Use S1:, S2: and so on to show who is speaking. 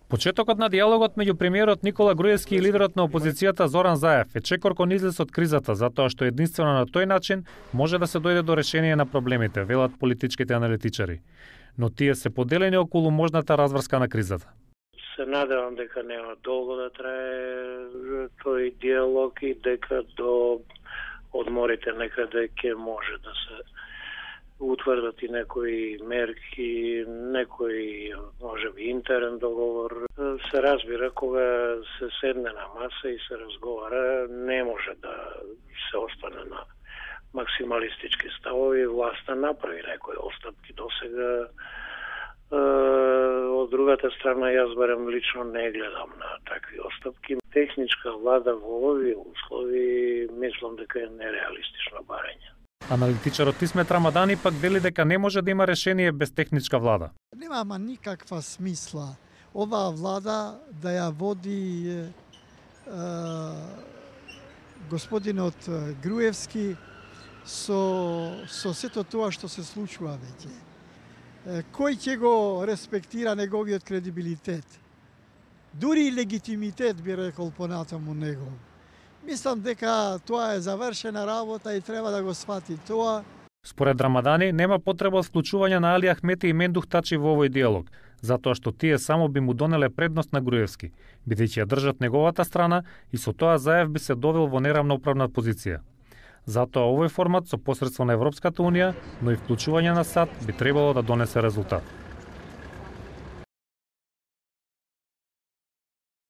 S1: Почетокот на диалогот меѓу премиерот Никола Груевски и лидерот на опозицијата Зоран Заев е чекор кон излез од кризата, затоа што единствено на тој начин може да се дојде до решение на проблемите, велат политичките аналитичари. Но тие се поделени околу можната разврска на кризата.
S2: Се надевам дека нема долго да трае тој диалог и дека до одморите некаде ќе може да се утврдат и некои мерки, некој можеби интерен договор. Се разбира кога се седне на маса и се разговара, не може да се остане на максималистички ставови. Власта направи некои отстапки досега. Од другата страна, јас барем лично не гледам на такви отстапки. Техничка влада во овие услови мислам дека е нереалистично барање.
S1: Аналитичарот Исмет Рамадани пак вели дека не може да има решение без техничка влада.
S3: Нема никаква смисла оваа влада да ја води господинот Груевски со сето тоа што се случува веќе. Кој ќе го респектира неговиот кредибилитет? Дури и легитимитет би рекол понатаму негов. Мислам дека тоа е завршена работа и треба да го свати тоа.
S1: Според Рамадани нема потреба од вклучување на Али Ахмети и Мендух Тачи во овој диалог, затоа што тие само би му донеле предност на Груевски, бидејќи ја држат неговата страна и со тоа Заев би се довел во неравноправна позиција. Затоа овој формат со посредство на Европската унија, но и вклучување на САД би требало да донесе резултат.